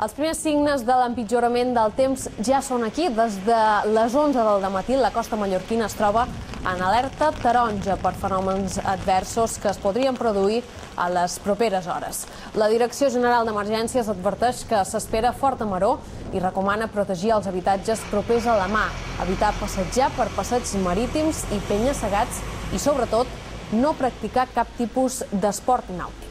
Els primers signes de l'empitjorament del temps ja són aquí. Des de les 11 del matí la costa mallorquina es troba en alerta taronja per fenòmens adversos que es podrien produir a les properes hores. La Direcció General d'Emergències adverteix que s'espera forta maror i recomana protegir els habitatges propers a la mar, evitar passejar per passeigs marítims i penya-segats i, sobretot, no practicar cap tipus d'esport nàutic.